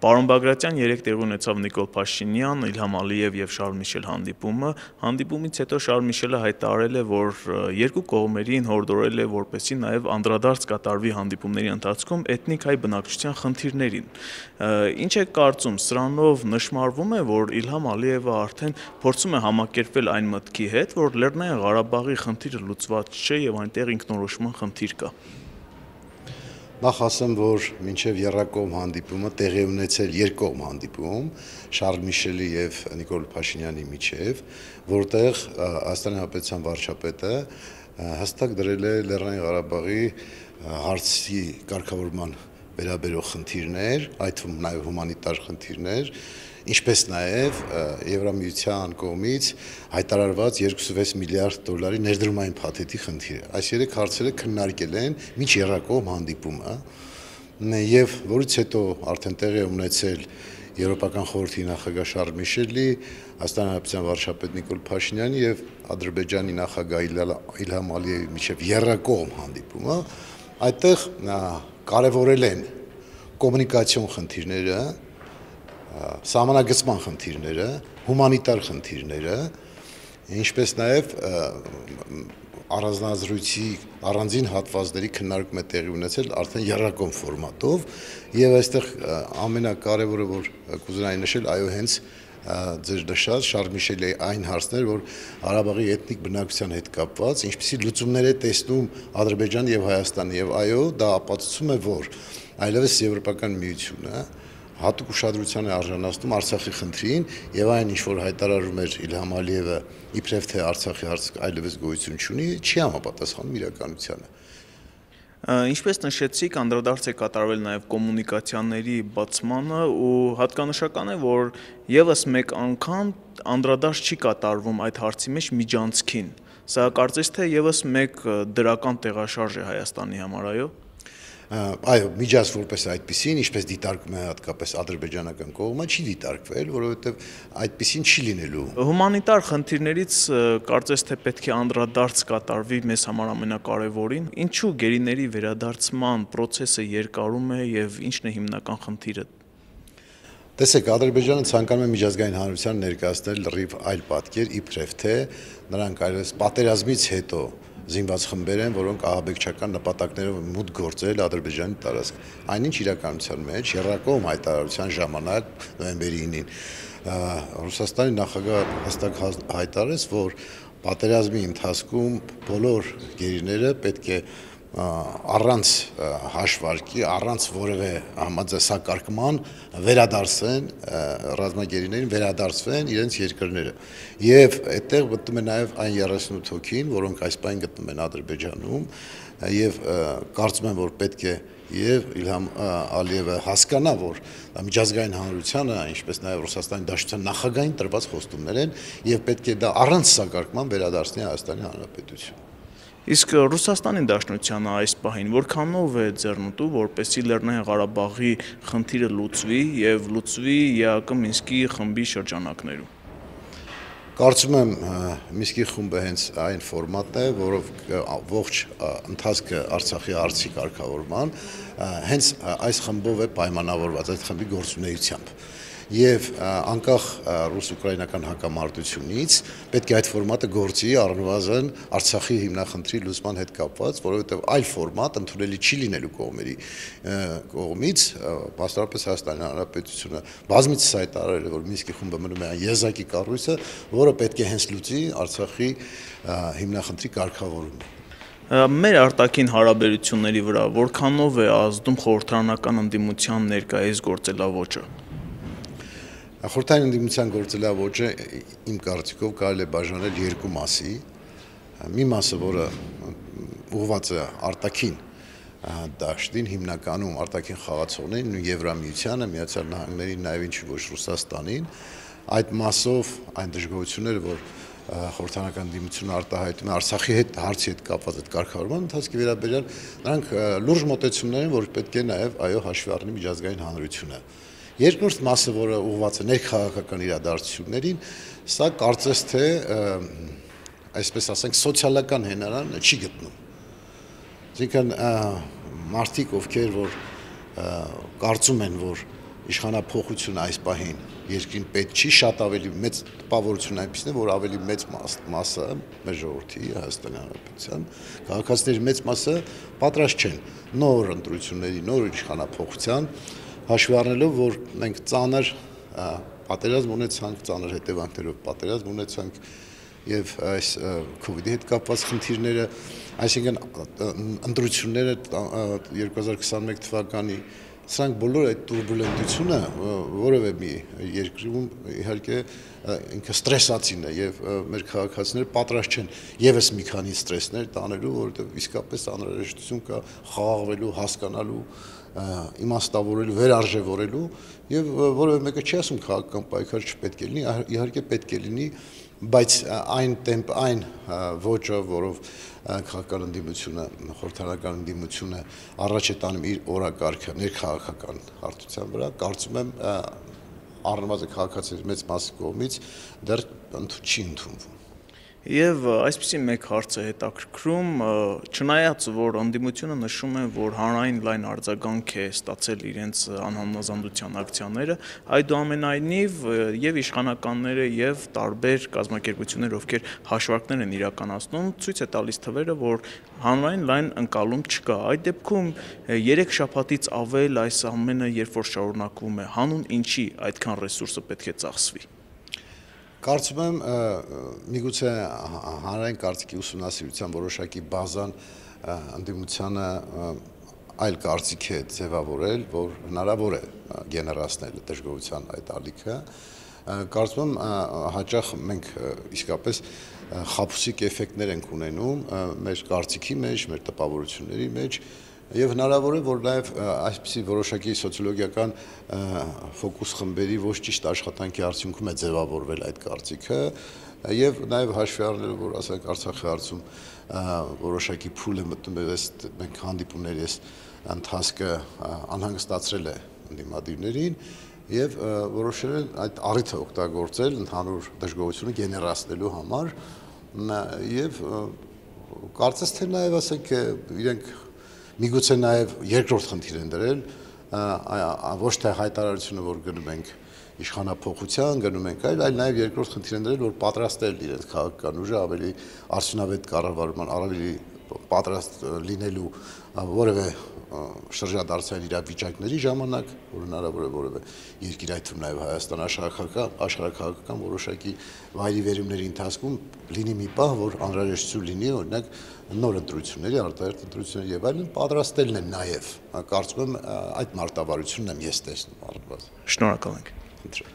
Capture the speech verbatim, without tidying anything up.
Պարոն Բագրատյան, երեկ տեղի ունեցավ Նիկոլ Փաշինյան, Իլհամ Ալիև եւ Շարլ Միշել հանդիպումը։ Հանդիպումից հետո Շարլ Միշելը հայտարարել է, որ երկու կողմերին հորդորել է, որպեսզի նաեւ անդրադարձ կատարվի հանդիպումների ընթացքում էթնիկ հայ բնակչության խնդիրներին։ Ինչ է կարծում, սրանով նշмарվում է, որ Իլհամ Ալիևը արդեն փորձում է համակերպվել այն մտքի հետ, որ Լեռնային Ղարաբաղի խնդիրը լուծված չէ եւ այնտեղ ինքնորոշման խնդիր կա։ Նախ ասեմ, որ մինչև եռակողմ հանդիպումը տեղի ունեցել երկկողմ հանդիպում Շարլ Միշելի եւ Նիկոլ Փաշինյանի միջև, որտեղ Հայաստանի Հանրապետության վարչապետը հստակ դրել է Լեռնային Ղարաբաղի հարցի կարգավորման վերաբերող խնդիրներ, այդ թվում նաեւ հումանիտար խնդիրներ, ինչպես նաեւ Եվրամիության կողմից հայտարարված երկուսունվեց միլիարդ դոլարի ներդրումային փաթեթի խնդիրը։ Այս երեք հարցերը քննարկել են միջ եռակողմ հանդիպումը, եւ որից հետո արդեն տեղի է ունեցել Եվրոպական խորհրդի նախագահ Շարլ Միշելի, Հայաստանի Հանրապետության վարչապետ Նիկոլ Փաշինյանի եւ Ադրբեջանի նախագահ Իլհամ Ալիևի միջև եռակողմ հանդիպումը, այդտեղ կարևորել են կոմունիկացիոն խնդիրները, սահմանագծման խնդիրները, հումանիտար խնդիրները, ինչպես նաև առանձնազրույցի առանձին հատվածների քննարկում է տեղի ունեցել արդեն եռակողմ ֆորմատով, եւ այստեղ ամենակարևորը, որ կուզենայի նշել, այո, հենց ձեր նշած Շարլ Միշելի այն հարցներ, որ Ղարաբաղի էթնիկ բնակության հետ կապված, ինչպիսի լուծումներ է տեսնում Ադրբեջանը եւ Հայաստանը, եւ այո, դա ապացուցում է, որ այլևս Եվրոպական միությունը հատուկ ուշադրության է արժանացնում Արցախի խնդրին եւ այն ինչ որ հայտարարում էր Իլհամ Ալիևը իբրև թե Արցախի հարցը այլևս գոյություն չունի, չի համապատասխանում իրականությանը։ Ինչպես նշեցիք, անդրադարձ է կատարվել նաեւ կոմունիկացիաների բացմանը ու հատկանշական է, որ եւս մեկ անգամ անդրադարձ չի կատարվում այդ հարցի մեջ միջանցքին։ Սա կարծես թե եւս մեկ դրական տեղաշարժ է Հայաստանի համար, այո։ Այո, միջանց որպես այդպեսին, ինչպես դիտարկում է հատկապես ադրբեջանական կողմը, չի դիտարկվել, որովհետև այդպեսին չի լինելու։ Հումանիտար խնդիրներից կարծես թե պետք է անդրադարձ կատարվի մեզ համար ամենակարևորին։ Ինչու գերիների վերադարձման process-ը երկարում է եւ ինչն է հիմնական խնդիրը։ Տեսեք, Ադրբեջանը ցանկանում է միջազգային հանրության ներկայացնել լրիվ այլ պատկեր, իբրև թե նրանք այլևս պատերազմից հետո զինված խմբեր են, որոնք ահաբեկչական նպատակներով մուտք գործել Ադրբեջանի տարածք։ Այնինչ իրականության մեջ եռակողմ հայտարարության ժամանակ նոյեմբերի ինին Ռուսաստանի նախագահը հստակ հայտարարեց, որ պատերազմի ընթացքում բոլոր գերիները պետք է առանց հաշվարկի, առանց որևէ համաձայնական վերադարձեն ռազմագերիներին վերադարձվեն իրենց երկրները։ Եվ այդտեղ գտնում է նաև այն երեսունութ հոգին, որոնք այս պայն գտնում են Ադրբեջանում, եւ կարծում եմ, որ պետք է եւ Իլհամ Ալիևը հասկանա, որ միջազգային հանրությանը, ինչպես նաև Ռուսաստանի Դաշնության նախագահին տրված խոստումներ են եւ պետք է դա առանց սակարկման վերադարձնի Հայաստանի Հանրապետություն։ Իսկ Ռուսաստանի Դաշնությանը այս պահին որքանով է ձեռնտու, որպեսզի Լեռնային Ղարաբաղի խնդիրը լուծվի եւ լուծվի ԵԱԿ Մինսկի խմբի շրջանակներում։ Կարծում եմ Մինսկի խումբը հենց այն ֆորմատն է, որով ողջ ընթացքը Արցախի հարցի կարգավորման հենց այս խմբով է պայմանավորված, այդ խմբի գործունեությամբ։ Եվ անկախ ռուս-ուկրաինական հակամարտությունից պետք է այդ ֆորմատը գործի առնվազն Արցախի հիմնախնդրի լուծման հետ կապված, որովհետև այլ ֆորմատ ընդունելի չի լինելու կողմերի կողմից, բացառապես Հայաստանի Հանրապետությունը բազմիցս հայտարարել է, որ Մինսկի խումբը մնում է այն եզակի կառույցը, որը պետք է հենց լուծի Արցախի հիմնախնդրի կարգավորումը։ Մեր արտաքին հարաբերությունների վրա որքանով է ազդում խորհրդարանական ընդդիմության ներկայիս գործելավոճը։ Խորհրդային ընդդիմության գործելավոճը իմ կարծիքով կարելի է բաժանել երկու մասի։ Մի մասը, որը ուղղված է արտաքին դաշտին, հիմնականում արտաքին խաղացողներին, Եվրամիությանը, Միացյալ Նահանգներին, նաև ինչ ոչ Ռուսաստանին, այդ մասով այն դժգոհությունները, որ խորհրդարանական ընդդիմությունը արտահայտում է Արցախի հետ հարցի հետ կապված այդ կարգավորման ընթացքի վերաբերյալ, նրանք լուրջ մոտեցումներ են, որ պետք է նաև այո հաշվի առնի միջազգային հանրությունը։ Երկրորդ մասը, որը ուղղված է ներքաղաքական իրադարձություններին, սա կարծես թե այսպես ասենք սոցիալական հենարան չի գտնում։ Այսինքն մարդիկ, ովքեր որ կարծում են, որ իշխանափոխությունը այս պահին երկրին պետք չի, շատ ավելի մեծ տպավորություն այնպեսին է, որ ավելի մեծ մասը մեր ժողովրդի Հայաստանի Հանրապետության քաղաքացիների մեծ մասը պատրաստ չեն նոր ընտրությունների, նոր իշխանափոխության, հաշվի առնելով, որ մենք ծանր պատերազմ ունեցանք, ծանր հետևանքներով պատերազմ ունեցանք եւ այս քովիդի հետ կապված խնդիրները, այսինքն ընտրությունները երկու հազար քսաներկու թվականի սրանք բոլոր այդ տուրբուլենտությունը որևէ մի երկրում իհարկե ինքը ստրեսացին է եւ մեր քաղաքացիները պատրաստ չեն եւս մի քանի ստրեսներ տանելու, որովհետեւ իսկապես անհրաժեշտություն կա խաղաղվելու, հասկանալու, իմաստավորելու, վերարժևորելու եւ որևէ մեկը չի ասում քաղաքական պայքար չպետք է լինի, իհարկե պետք է լինի, բայց այն տեմպ, այն ոճը, որով քաղաքական ընդդիմությունը, խորհրդարանական ընդդիմությունը առաջ է տանում իր օրակարգը ներքաղաքական հարթության վրա, կարծում եմ առնվազն քաղաքացիների մեծ մասի կողմից դեռ չի ընդունվում։ Եվ այսպիսի մեկ հարց է հետաքրքրում, չնայած որ ընդդիմությունը նշում է, որ հանրային լայն արձագանք է ստացել իրենց անհամնազանդության ակցիաները, այդուամենայնիվ եւ իշխանականները եւ տարբեր կազմակերպություններ, ովքեր հաշվարկներ են իրականացնում, ցույց է տալիս թվերը, որ հանրային լայն ընկալում չկա։ Այդ դեպքում երեք շաբաթից ավել այս ամենը երբ որ շարունակվում է, հանուն ինչի այդքան ռեսուրսը պետք է ծախսվի։ Կարծում եմ միգուցե հանրային կարծիքի ուսումնասիրության որոշակի բազան ընդդիմությանը այլ կարծիք է ձևավորել, որ հնարավոր է գեներացնել դժգոհության այդ ալիքը, կարծում եմ հաճախ մենք իսկապես խաբուսիկ էֆեկտներ ենք ունենում մեր կարծիքի մեջ, մեր տպավորությունների մեջ եւ հնարավոր է, որ նաեւ այսպիսի որոշակի սոցիոլոգիական ֆոկուս խմբերի ոչ ճիշտ աշխատանքի արդյունքում է ձևավորվել այդ կարծիքը եւ նաեւ հաշվի առնելով, որ ասենք Արցախի հարցում որոշակի փուլ է մտնում եւ այս մենք հանդիպումների այս ընթացքը անհանգստացրել է ընդդիմադիրներին եւ որոշել են այդ առիթը օգտագործել ընդհանուր դժգոհությունը գեներացնելու համար եւ կարծես թե նաեւ ասենք իրենք միգուցե նաև երկրորդ խնդիր են դրել, ոչ թե հայտարարությունը, որ գնում ենք իշխանափոխության, գնում ենք այլ, այլ նաև երկրորդ խնդիր են դրել, որ պատրաստել իրենց քաղաքական ուժը ավելի արդյունավետ կառավարման, ավելի պատրաստ լինելու որևէ շրջադարձային իրավիճակների ժամանակ, որ հնարավոր է որևէ երկիր, այդ թվում նաև Հայաստան աշխարհաքաղաքական որոշակի վայրիվերումների ընթացքում լինի մի պահ, որ անհրաժեշտություն լինի, օրինակ նոր ընտրությունների, արտահերթ ընտրությունների եւ այլն պատրաստելն է նաև, կարծում եմ այդ մարտավարությունն եմ ես տեսնում առնվազն։ Շնորհակալ ենք։